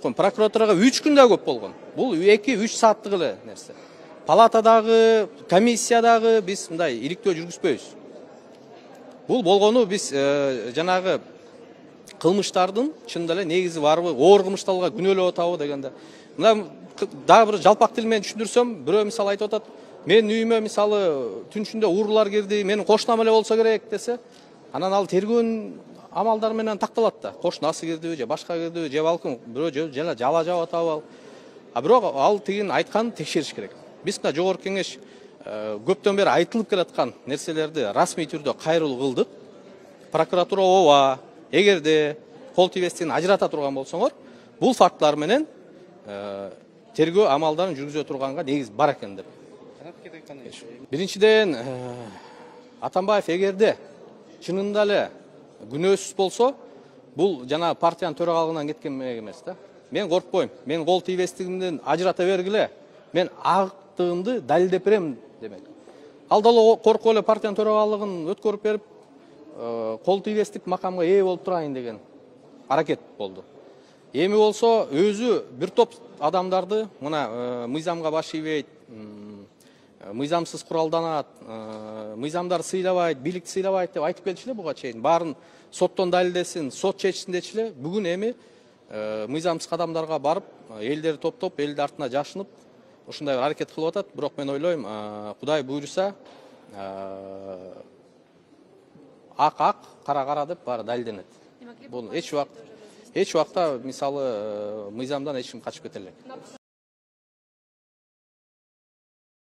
өткөн. Прокуратурага 3 күндө көп болгон. Бул 2-3 сааттык эле нерсе. Палатадагы, комиссиядагы биз мындай иликтөө жүргүзбөйбүз. Бул болгону биз жанагы кылмыштардын чынында эле негизи барбы, оор кылмыштарга күнөөлөп атабы дегенде. Мына дагы бир жалпак тил менен түшүндүрсөм, бирөө мисалы айтып атат, менин үйүмө мисалы түн ичинде уурулар кирди, менин кошунам эле болсо керек десе, анан ал тергөөнүн амалдары менен такталат да. Кошунасы кирдиби, же башка кирдиби, же балким бирөө жана жала жаап атабы. А бирок ал тигин айтканын текшериш керек. Биз мына жогорку кеңеш көптөн бери айтылып келаткан нерселерди расмий түрдө кайрылуу кылдык. Прокуратура ооба, эгерде кол тийбестигин ажырата турган болсоңор, бул фактлар менен тергөө амалдарын жүргүзө турганга негиз бар экен деп. Биринчиден, Атамбаев эгерде чынында эле күнөөсүз болсо, бул жана партиянын төрагалыгынан кеткен эмес да. Мен коркпойм. Мен кол тийбестигимден ажырата бергиле. Мен актыгымды далилдеп берем демек. Ал дагы коркуп эле партиянын төрагалыгын өткөрүп берип, кол тийбестик макамга ээ болуп турайын деген аракет болду. Эми болсо өзү бир топ адамдарды мына мыйзамга баш ийбейт, мыйзамсыз куралданат, мыйзамдар сыйлабайт, бийликти сыйлабайт деп айтып келчү эле буга чейин. Баарын соттон далилдесин, сот чечсин дечи эле. Бүгүн эми мыйзамсыз кадамдарга барып, элдерди топтоп, элди артына жашынып, ушундай бир аракет кылып атат. Бирок мен ойлойм, Кудай буйруса, ак, кара деп баары далилденет. Бул эч убакта мисалы мыйзамдан эч ким качып кете элек.